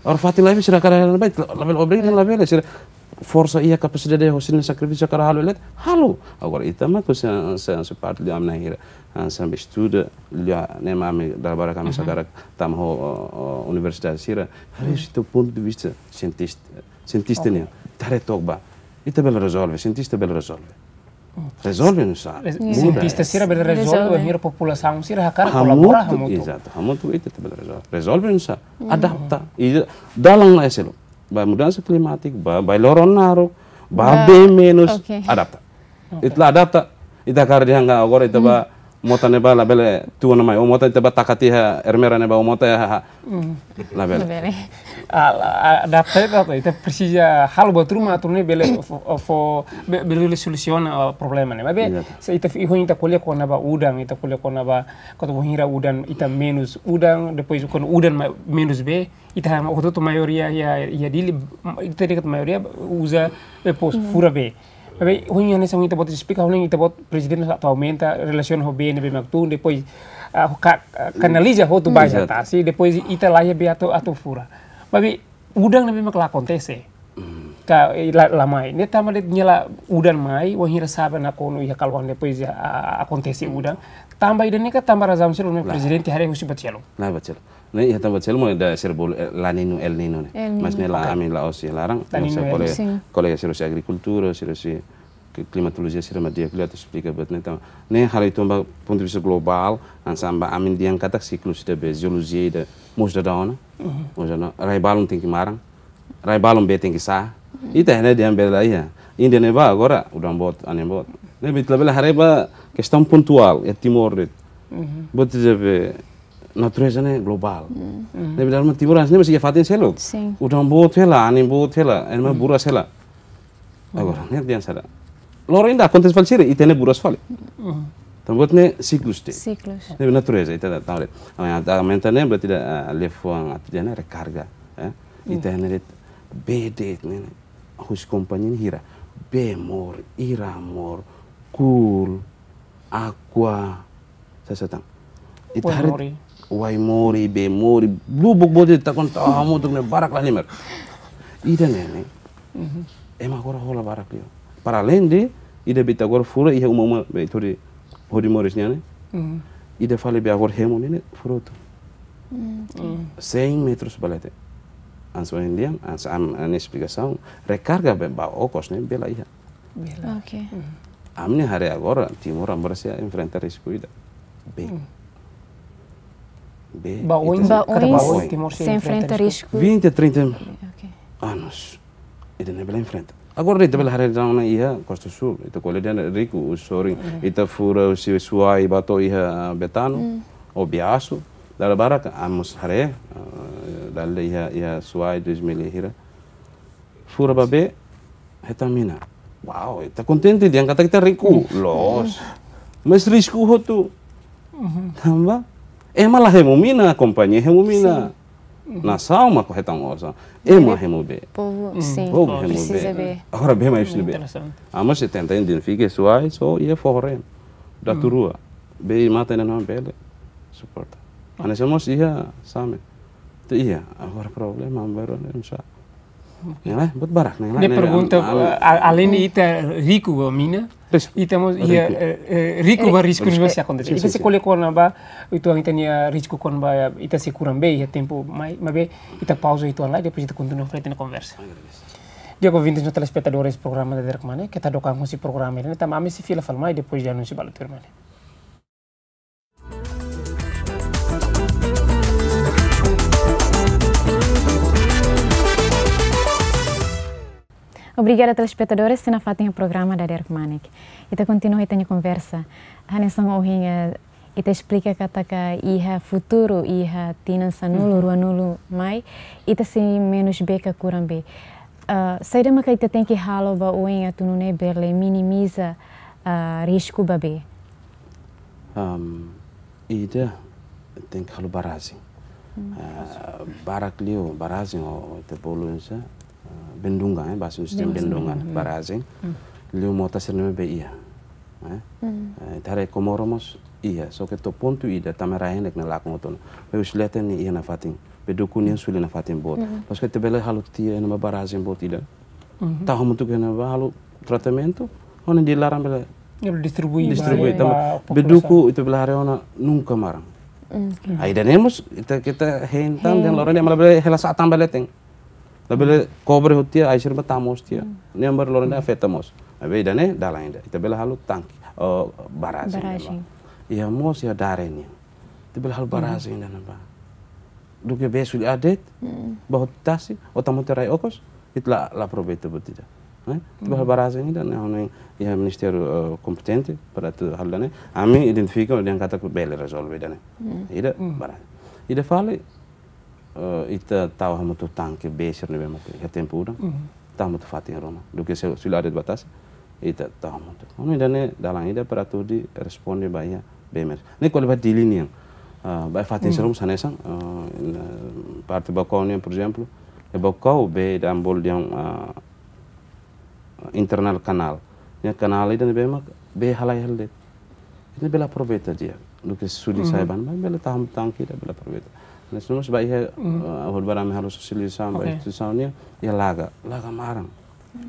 Agora fatin lain sira hakarak hela ne'ebá, labele obriga de'it, labele, sira forsa iha kapasidade, ho sira-nia sakrifísiu hakarak halo, hela, halo. Agora ita mak, se, se, se parte de ami-nia hira, ah, sampai estuda, lia, ne'e mak ami dala barak ami hakarak tama ho, ho, ho universidade sira, haree husi ita-nia pontu de vista sientis-, sientista nian, ita haree took ba. Ita bele rezolve, sientista bele rezolve. Rezolve nu'usá? Sientista sira bele rezolve, rezolve. Bainhira populasaun sira hakarak kolabora hamutuk, hamutuk. Ezatu, hamutuk ita bele rezolve. Rezolve nu'usá? Adapta. I dalan ne'e seluk. Ba mudansa klimátika, ba, ba loron naruk, ba bee menus, adapta. Ita la adapta, ita hakarak dehan agora ita ba mota ne'ebá labele tun ona mai, ou mota ita ba taka tiha ermera ne'ebá, ou mota iha, ha, ha. Labele. Labele. Ah, la, ah, adapta ita, ita presiza halo buat ruma atu nune'e bele fó, fó, be-, bele solusiona, ah, problema ne'e. Maibé, se ita fi-, ho ita ko'alia kona-ba udan, ita ko'alia kona-ba, kota bainhira udan, ita menus udan, depois kuandu udan ma-, menus bee, ita hotu-hotu maioria iha, iha Dili, ita dehan maioria uza, eh, pos, fura bee. Maibé, ho nia hanesan ita-boot esplika, ho nia ita-boot prezidente atu aumenta relasiona ho bee ne'ebé mak tun, depois, ah, ka-, ah, kanaliza hotu ba iha tasi, depois ita laiha bee atu, atu fura. Maibé, udan ne'ebé mak la akontese. Ka, eh, la, la mai. Ne'e tanba de'it nia la udan mai, bainhira sa'e nakonu iha kaluan depois, ah, akontese udan. Tanba ida-ne'e ka tanba razaun seluk ne'ebé prezidente haree husi buat seluk. La buat seluk. Ne'e, iha tanba seluk mak ida sira bolu, eh, La Niña, El Niño ne'e. El Niño. Mas ne'e la, ami la'ós iha laran, La Niña, mas El Niño. Kolega, kolega sira husi agrikultura, sira husi kli-, klimatolojia sira mak di'ak liu atu esplika buat ne'e tanba. Ne'e halo ita ba pontu de vista globál, hanesan ba ami dehan katak siklu ida be jeolojia ida mós dadaun ona. Mós dadaun ona. Rai balun tenke maran. Rai balun bee tenke sa'e. Ita ne'e dehan bee la iha. Índia ne'ebá agora udan boot, anin boot. Ne'ebé ita labele haree ba kestaun pontuál iha Timor de'it. Buat ida be natureza ne'e globál. Ne'ebé dala ruma Timor hanesan ne'e mós iha fatin seluk. Sin. Udan boot hela, anin boot hela, ema buras hela. Agora, ne'e dehan sá. Loron ida akontese fali sira, ita ne'e buras fali. Tanba buat ne'e siklus de'it. Siklus. Ne'e natureza, ita la tahu de'it. Ami atu aumenta ne'e, berarti ita, ah, liafuan atu dehan ne'e rekarga, eh. Ita ne'e de'it, bee de'it ne'e, ne'e. Husi kompañia ne'e hira. Bee mour, ira mour, kul, aqua, sasán tan. Ita haree Waimori. Waimori, Bemori, lubuk boot ita konta hamutuk ne'e barak la lima. Ida-ne'e ne'e. Ema agora hola barak liu. Para além de, ida be ita agora fura iha uma-uma be ita hodi, hodi moris nian ne'e. Ida fali be agora hemu ne'e ne'e fura hotu. Cem metros ba leten. Hanesan ohin dehan, hanesan ami-nia esplikasaun, rekarga be ba okos ne'e bee la iha. Bee la. Oke. Ami-nia haree agora, Timor agora sei enfrenta risku ida. Bee. Bee, ba oin, ita sei, ba oin, Timor sei enfrenta risku. Vinte, trinta anos. Ita ne'e bele enfrenta. Agora ita bele haree daudaun iha Costa Sul, ita ko'alia dehan riku, sorin, ita fura husi Suai ba to'o iha Betano, ou Biasu, dala barak, ami mós haree, eh, dala iha, iha Suai dois mil e hira. Fura ba bee, hetan mina. Wow, ita kontente dehan katak ita riku. Loos. Mas risku hotu. Tanba ema la hemu mina, kompañia hemu mina. Nasaun mak hetan osan. Ema hemu bee. Povu, sin. Povu hemu bee. Presiza bee. Agora bee mai husi ne'ebé? Interesante. Ami sei tenta identifika Suai, só iha foho-reen. Daturua. Bee matan ne'e labele suporta. Hanesan mós iha Same. Entaun iha, agora problema baru ne'e, sá. Oke. Ya, buat barak ne'e, ne'e pergunta, ami, eh, a-, além de ita riku ba mina, ita mós iha, eh, eh, riku ba risku ne'ebé sei akontese. Sin, sin, sin. Ita sei ko'alia kona-ba, uitoan ita-nia risku kona-ba, ita sei kuran bee iha tempu mai, maibé ita pauza uitoan lai, depois ita kontinua frente na konversa. Di'ak, ouvintes no telespetadores programa Dadeer Kmanek, keta dook an husi programa ida-ne'e, tanba ami sei fila fali mai depois de anúnsiu balu tuirmai ne'e. Obrigada, telespetadores, sei nafatin programa Dadeer Kmanek. Ita kontinua ita-nia konversa. Hanesan ohin, eh, ita esplika katak iha futuru, iha tinan sanulu, ruanulu mai, ita sei menus bee ka kuran bee. Eh, saida maka ita tenke halo ba oin atu nune'e bele minimiza, eh, risku ba bee? Am, ida tenke halo barajen. Hmm. Ah, barak liu barajen, o, o ita bolu hanesan, ah, bendungan, eh, bahasa Indonesia bendungan, bendungan, hmm, barajen. Hmm. Liu mota sira-ne'ebé iha. Eh? Hmm. Eh, ita haree Komoro mós iha, só ke to'o pontu ida, tama rai-henek ne'e lakon hotu ona. Bee Usileten ne'e iha nafatin. Bee Duku nian suli nafatin boot. Hmm. Loos ke ita bele halo tiha iha ne'ebá barajen boot ida. Mhm. Tau hamutuk iha ne'ebá, halo tratamentu, hodi laran bele distribui, distribui ba, tanba ba bee Duku populasaun. Ita bele haree ona nunka maran. Mm. Ai, ida-ne'e mós ita, ita hein tan, dehan loron ida mak labele hela sa'e tan ba leten. Labele kobre hotu tiha, ai sira-ne'e tama mós tiha. Mm. Ne'e mak loron ida afeta mós. Maibé ida-ne'e dalan ida. Ita bele halo tanke, oh, barajen. Barajen. Iha mós iha Dare nian. Ita bele halo barajen iha ne'ebá. Duké bee suli aat de'it, mm, ba hotu tasi, ou tama hotu rai okos, ita la, la aproveita buat ida. Eh? Ita bele halo barajen ida-ne'e, ha'u hanoin iha ministériu, eh, kompetente para atu halo ida-ne'e. Ami identifika dehan katak bele rezolve ida-ne'e. Mm. Ida, mm, barajen. Ida fali, eh, ita tau hamutuk tanke bee sira-ne'ebé mak iha tempu udan. Mm. Tau hamutuk fatin ruma. Duké se suli aat de'it ba tasi, ita tau hamutuk. Ha'u hanoin ida-ne'e dalan ida para atu hodi responde ba iha bee menus. Ne'e ko'alia ba Dili nian. Ah, ba fatin sira mós hanesan, ah, iha parte Baucau nian, por ezemplu, iha Baucau bee ida ami bolu dehan, ah, internal kanál. Ne'e kanál ida-ne'ebé mak bee halai hela de'it. Ita bele aproveita di'ak. Duké suli sa'e ba ne'ebá, bele tau hamutuk tanke ida bele aproveita. Ne'e mós ba iha, eh, hodi ba ami halo sosializasaun ba instituisaun nian, iha Laga. Laga maran.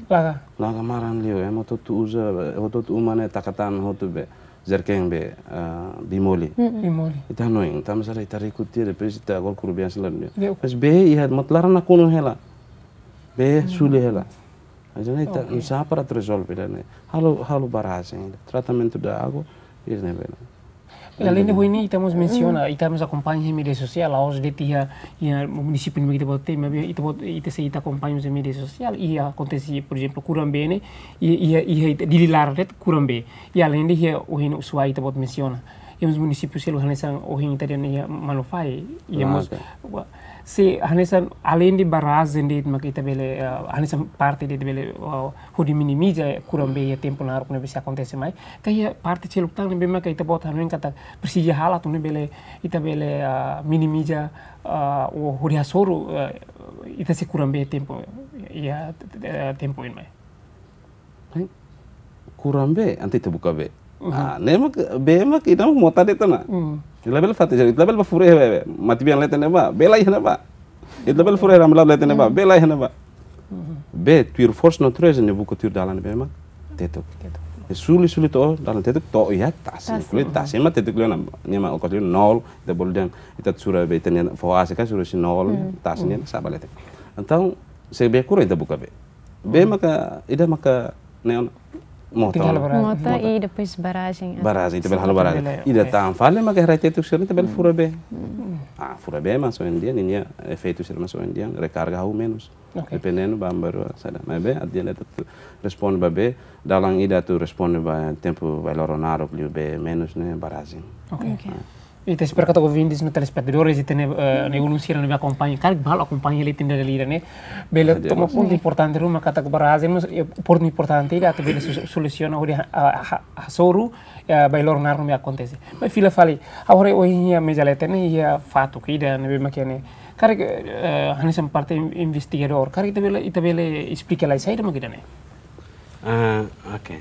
Laga. Laga maran liu, ema hotu-hotu uza, hotu-hotu uma ne'e taka tan hotu bee, jerken bee, eh, bee moli. Mm-mm. Bee moli. Ita hanoin, ita masa ita riku tiha, depois ita agora kuru bee sila nian. Mas bee iha, mak laran nakonu hela. Bee suli hela. Mas ne'e ita, oke, oinsá para rezolve ida-ne'e. Halo, halo barajen, tratamentu da água, ida-ne'e bele. Alende ho ne'e, ita mós mensiona, ita mós akompaña iha média sosiál, la'ós de'it iha, iha munisípiu ne'ebé ita-boot, maibé ita-boot, ita sei ita akompaña iha média sosiál, iha akontese, por ezemplu, kuran bee ne'e, iha, iha, iha ita Dili laran de'it kuran bee. I alende iha ohin Ushuaia ita-boot mensiona. Iha mós munisípiu seluk hanesan ohin ita dehan iha Manufae, iha mós, ah, oke, wa-, se hanesan alende barajen de'it mak ita bele, eh, hanesan parte de'it bele, eh, hodi minimiza kuran bee iha tempu naruk ne'ebé sei akontese mai. Ka iha parte seluk tan ne'ebé mak ita-boot hanoin katak presiza halo atu nune'e bele, ita bele, eh, minimiza, eh, ou hodi hasoru, eh, ita sei kuran bee tempu, iha, eh, tempu oin mai. Hein? Kuran bee, entaun ita buka bee. Mhm. Ah, ne'e mak, bee mak ida mak mota de'it ona. Mhm. Ita labele fatin, ita labele bá fura iha bee, bee. Matebian leten ne'ebá, bee la iha ne'ebá. Ita labele fura iha Ramilab leten ne'ebá, mhm, bee la iha ne'ebá. Mhm. Bee, tuir forsa natureza ne'e buka tuir dalan bee mak tetuk. Tetuk. E suli, suli to'o, dalan tetuk to'o iha tasi. Tasi. Inkluin tasi mak tetuk liu ona, nia mak okos liu nol, ita bolu dehan, ita sura bee, ita-nia foase ka sura husi nol, mhm, tasi nia, mhm, sa'e ba leten. Entaun, se bee kuran ita buka bee. Bee maka, ida maka neon mota. Tinggal barajen. Mota. Mota i depois barajen. Barajen, ita bele halo barajen. Bele, ida, oke, tan fali maka rai tetuk sira ita bele fura bee. Hmm. Ah, fura bee mak ohin dehan, ninia efeitu sira mak ohin dehan, rekarga hahú menus. Oke. Dependendo ba baru saida. Maibé, adiante atu responde ba bee, dalan ida atu responde ba tempu ba loron naruk liu bee menus ne'e barajen. Oke. Oke. Ah. Ita espera katak ouvintes no telespetadores ita-nia, eh, ne'e ulun sira ne'ebé akompaña, karik balu akompaña hela ita-nia dala ida ne'e. Bele toma pontu importante ruma katak barajen mós, eh, pontu importante ida atu bele su-, solusiona hodi ha-, ha-, ha-, hasoru, eh, ba loron naruk ne'ebé akontese. Maibé fila fali, agora ohin iha meza leten ne'e iha fatuk ida ne'ebé mak ne'e. Karik, eh, hanesan parte in-, investigadór, karik ita bele, ita bele esplika lai saida mak ida-ne'e. Ah, oke.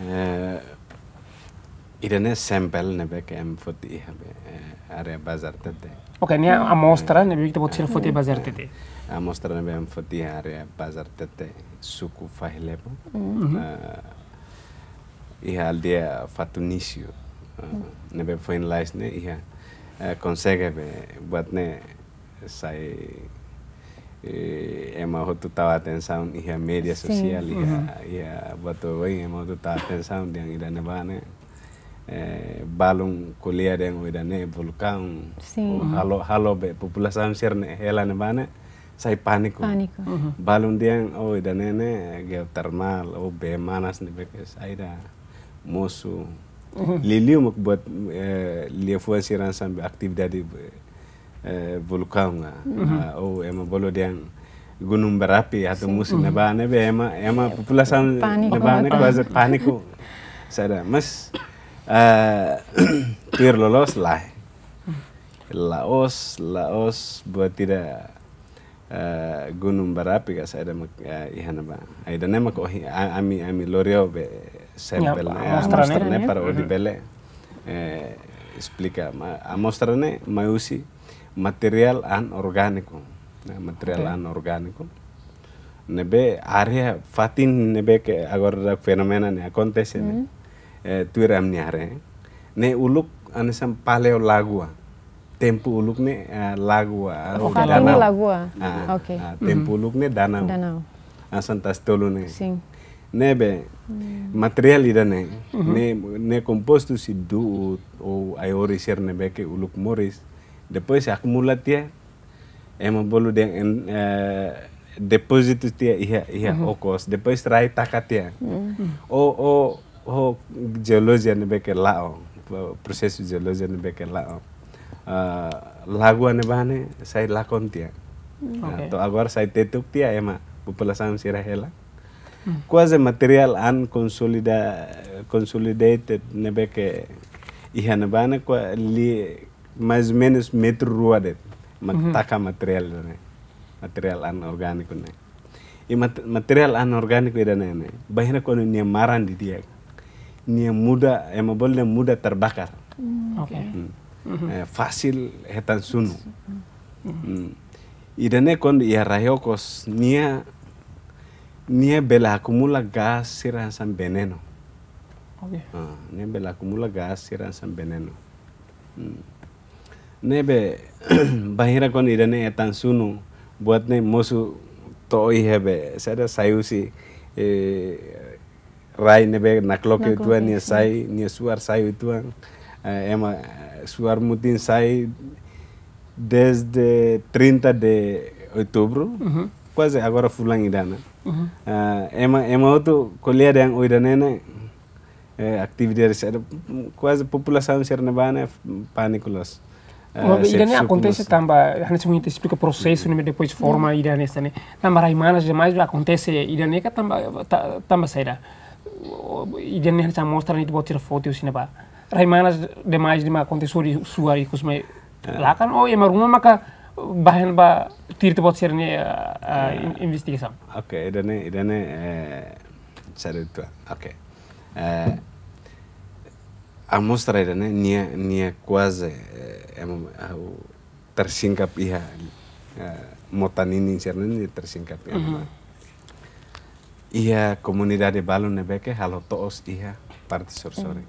Eh, ida-ne'e sampel ne'ebé ke ema foti iha be, eh, área Bazar Tete. Oke, ne'e, eh, amostra, eh, ne'ebé ita-boot sira foti iha Bazar Tete. Amostra ne'ebé ema foti iha área Bazar Tete, suku Fahilepo. Mhm. Eh, iha aldeia Fatunício. Eh, ne'ebé foin lalais ne'e iha, eh, konsege be buat ne'e sai eh, ema hotu tau atensaun iha média sosiál, iha, iha buat oioin ema hotu tau atensaun dehan ida-ne'ebá ne'e, eh, balun ko'alia dehan, oh, ida-ne'e vulkaun, oh, halo, halo be populasaun sira-ne'e hela ne'ebá ne'e sai pániku. Pániku. Balun dehan, oh, ida-ne'e ne'e geotermál, oh, bee manas ne'ebé ke saida, mosu. Liuliu mak buat, eh, liafuan sira hanesan be atividade, eh, vulkaun, ah. Ah, oh, ema bolu dehan gunung berapi atu mosu ne'ebá ne'ebé ema, ema populasaun ne'ebá ne'e kuaze pániku. Saida, mas, eh, tuir loloos lae. La'ós, la'ós buat ida, eh, gunung berapi ka saida mak, eh, iha ne'ebá. Ida-ne'e mak ohin, a-, ami, ami lori ó be sampel ne'e, amostra ne'e para ó bele, eh, esplika. Amostra ne'e mai husi materiál anorgániku. Nah, materiál anorgániku. Ne'ebé área fatin ne'ebé ke agora ida fenómenu ne'e akontese ne'e. Eh, tuir ami-nia haree. Ne'e uluk hanesan paleolagua. Tempu uluk ne'e, eh, lagua, oh, fatin ne'e danau. Lagua. Ah, tempu uluk ne'e danau. Danau. Hanesan Tasi Tolu ne'e. Sin. Ne'ebé, materiál ida-ne'e, ne'e, ne'e kompostu husi du'ut ou ai-horis sira ne'ebé ke uluk moris. Depois akumula tiha, ema bolu dehan, eh, depózitu tiha iha, iha okos. Depois rai taka tiha. Ou, ou, ou jeolojia ne'ebé ke la'o, prosesu jeolojia ne'ebé ke la'o. Ah, lagua ne'ebá ne'e sai lakon tiha. Ah, to'o agora sai tetuk tiha ema populasaun sira hela. Kuaze materiál an konsolida, consolidated ne'ebé ke iha ne'ebá ne'e kua li mais ou menus metru rua de'it. Mak taka materiál ne'e. Materiál anorgániku ne'e. I mat-, materiál anorgániku ida-ne'e ne'e. Bainhira kuandu nia maran didi'ak, nia muda, ema bolu nia muda terbakar. Oke. Eh, fasil hetan sunu. Ida-ne'e kuandu iha rai okos, nia, nia bele akumula gás sira hanesan venenu. Oke. Ah, nia bele akumula gás sira hanesan venenu. Ne'ebé, bainhira kuandu ida-ne'e hetan sunu, buat ne'e mosu to'o iha be, saida, sai husi, eh, rai ne'ebé nakloke uitoan, nia sai, nia suar sai uitoan, eh, ema, eh, suar mutin sai desde trinta de outubro, kuaze agora fulan ida-ne'e. Ah, ema, ema hotu ko'alia dehan, oh, ida-ne'e ne'e, eh, atividade sira, kuaze populasaun sira ne'ebá ne'e pániku loos. Eh, ida-ne'e akontese tanba, hanesan ita esplika prosesu ne'e depois forma ida-ne'e hanesan ne'e. Tanba rai manas demais akontese ida-ne'e ka tanba, ta-, tanba saida. Ida-ne'e hanesan amostra ne'e ita-boot sira foti husi ne'ebá. Rai manas demais ne'e mak akontese hodi suar ikus mai lakan, ou ema ruma maka bahan ba tuir ita-boot sira-nia, ah, ah, in-, investigasaun. Oke, ida-ne'e, ida-ne'e, eh, saida uitoan. Oke. Eh, amostra ida-ne'e, nia, nia kuaze, eh, ema, ah, tersingkap iha, eh, mota ninin sira-ne'e, nia tersingkap iha. Iha komunidade balun ne'ebé ke halo to'os iha parte sorin-sorin.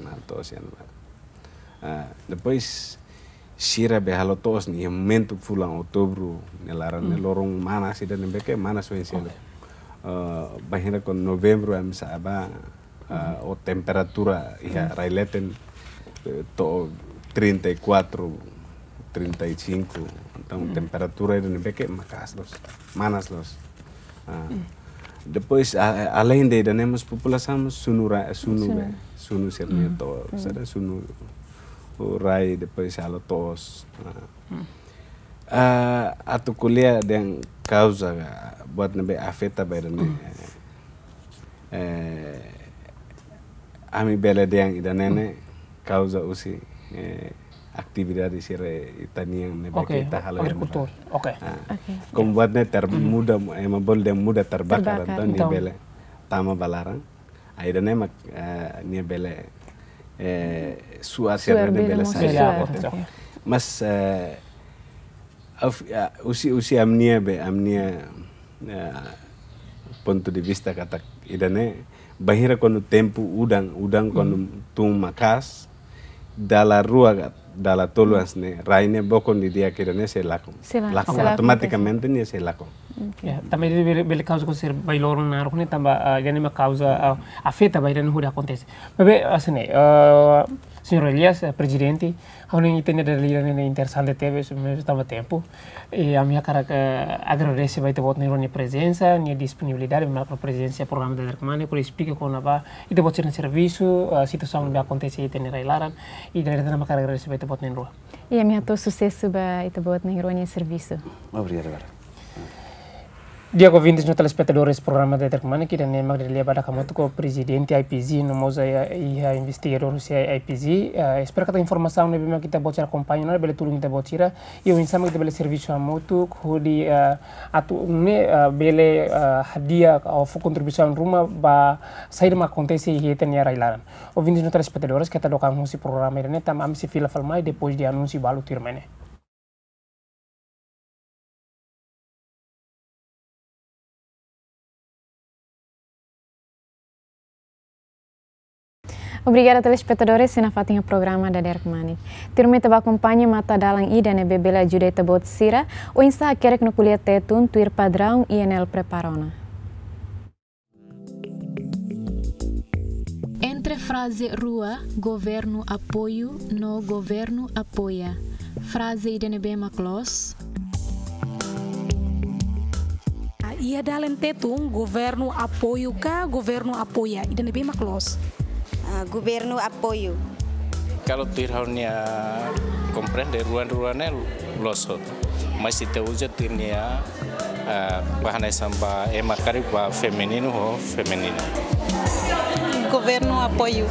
Halo to'os iha ne'ebá. Ah, depois sira be halo to'os ne'e iha momentu fulan outubru nia laran ne'e loron manas ida ne'ebé ke manas oioin seluk. Eh, bainhira kuandu novembru ami sa'e ba, ah, ou temperatura iha rai leten, eh, to'o trinta e quatro, trinta e cinco. Entaun temperatura ida ne'ebé ke maka'as loos, manas loos. Ah. Depois, a-, a-, além de ida-ne'e mós populasaun mós sunu ra-, sunu be, sunu sira-nia to'o, saida, sunu rai, depois halo to'os. Ah. Ah, atu ko'alia dehan kauza ka buat ne'ebé afeta ba ida-ne'e. Eh, ami bele dehan ida-ne'e ne'e kauza husi, eh, atividade sira ita-nian ne'ebé ke ita halo iha ne'ebá. Oke, agrikultór. Oke. Ah. Oke. Komu buat ne'e termuda, ema bolu dehan muda terbakar, entaun nia bele tama ba laran. Ah, ida-ne'e mak, eh, nia bele, eh, suar sira-ne'e bele sai. Oke. Mas, eh, husi, husi ami-nia be, ami-nia, eh, pontu de vista katak ida-ne'e, bainhira kuandu tempu udan, udan kuandu tun maka'as, dala rua ka dala tolu hanesan ne'e, rai ne'e bokon didi'ak ida-ne'e sei lakon. Sei la-, lakon, sei lakon, automatikamente nia sei lakon. Oke. Ya, tanba ida-ne'e bele, bele kauza konser bai loron naruk ne'e tanba, ah, ida-ne'e mak kauza, ah, afeta ba ida-ne'e hodi akontese. Maibé, hanesan ne'e, ah, señór Elias, ah, prezidente, ha'u hanoin ita-nia dada-lira ne'e interesante tebes, maibé tanba tempu. I ami hakarak, eh, agradese ba ita-boot na'in-rua nia prezensa, nia disponibilidade, ba prezensa programa Dadeer Kmanek, hodi esplika kona-ba ita-boot sira-nia servisu, eh, situasaun ne'ebé akontese iha ita-nia rai-laran, i dala ida tan ami hakarak agradese ba ita-boot na'in-rua. I ami hato'o susesu ba ita-boot na'in-rua nia servisu. Obrigadu barak. Di'ak, ouvintes no telespetadores programa Dadeer Kmanek, ida-ne'e mak dada-lia badak hamutuk ho prezidente I P G, no mós iha, iha investigadór husi I P G. Eh, espera katak informasaun ne'ebé mak ita-boot sira akompaña ona bele tulun ita-boot sira, i oinsá mak ita bele servisu hamutuk, hodi, eh, atu nune'e, eh, bele, eh, hadi'a ka fó kontribuisaun ruma ba saida mak akontese iha ita-nia rai-laran. Ouvintes no telespetadores, keta dook an husi programa ida-ne'e, tanba ami sei fila fali mai depois de anúnsiu balu tuirmai ne'e. Obrigada, telespetadores, sira nafatin iha programa Dadeer Kmanek. Tuirmai ita bá akompaña matan-dalan ida ne'ebé bele ajuda ita-boot sira oinsá hakerek no ko'alia Tetun tuir padraun I N L prepara ona. Entre fraze rua, governu apoiu, no governu apoia, fraze ida ne'ebé mak loos? Ah, iha dalen Tetun, governu apoiu ka governu apoia, ida ne'ebé mak loos? Ah, governu apoiu. Kalau tuir ha'u-nia komprende, rua-rua ne'e loos hotu. Mas ita uza tuir-nia, eh, ba hanesan ba ema karik ba femininu ho feminina. Governu apoiu.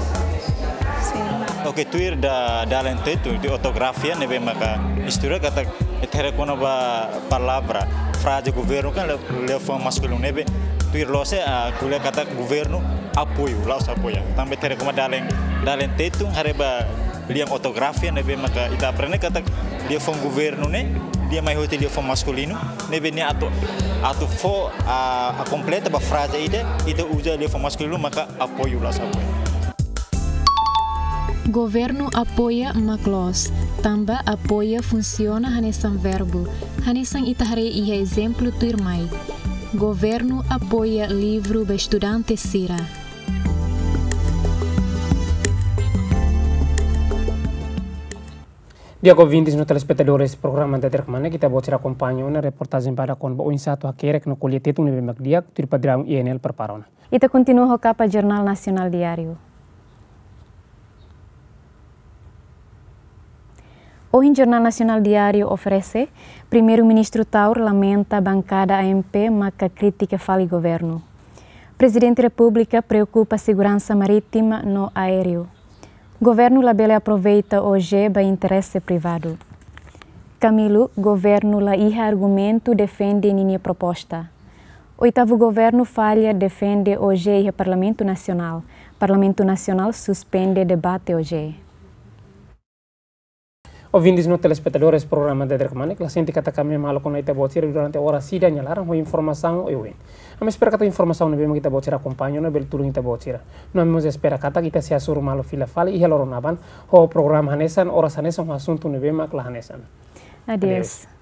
Sin. Oke, tuir da-, dalen Tetun, tuir ortografia ne'ebé maka istória katak ita haree kona-ba palavra, fraze governu kan lia-, liafuan maskulinu ne'ebé tuir loos, ah, ko'alia katak governu apoiu, la'ós apoia. Tanba ita haree kona-ba dalen, dalen Tetun, haree ba lian ortografia ne'ebé maka ita aprende katak liafuan governu ne'e lia mai hosi liafuan maskulinu, ne'ebé nia atu, atu fó, ah, ah, kompleta ba fraze ida, ita uza liafuan maskulinu maka apoiu, la'ós apoia. Governu apoia mak loos, tanba apoia funsiona hanesan verbu, hanesan ita haree iha ezemplu tuirmai. Governu apoia livru ba estudante sira. Di'ak, ouvintes no telespetadores programa Dadeer Kmanek, ita-boot sira akompaña ona reportajen badak kona-ba oinsá atu hakerek no ko'alia Tetun ne'ebé mak di'ak, tuir padraun I N L prepara ona. Ita kontinua ho kapa Jornál Nasionál Diáriu. Ohin Jornál Nasionál Diáriu oferese, Primeiru-Ministru Taur lamenta bankada A M P maka kritika fali governu. Prezidente Repúblika preokupa seguransa marítima no aéreu. Governu labele aproveita O J ba interese privadu. Camilo, governu la iha argumentu defende ninia proposta. Oitavu governu falla defende O J iha Parlamentu Nasionál. Parlamentu Nasionál suspende debate O J. Ouvintes no telespetadores programa Dadeer Kmanek, la sente katak ami maluk ona ita-boot sira durante oras ida nia laran ho informasaun oioin. Ami espera katak informasaun ne'ebé mak ita-boot sira akompaña ona bele tulun ita-boot sira. No ami mós espera katak ita sei hasoru malu fila fali iha loron aban ho programa hanesan, oras hanesan, ho asuntu ne'ebé mak la hanesan. Adeus. Adeus.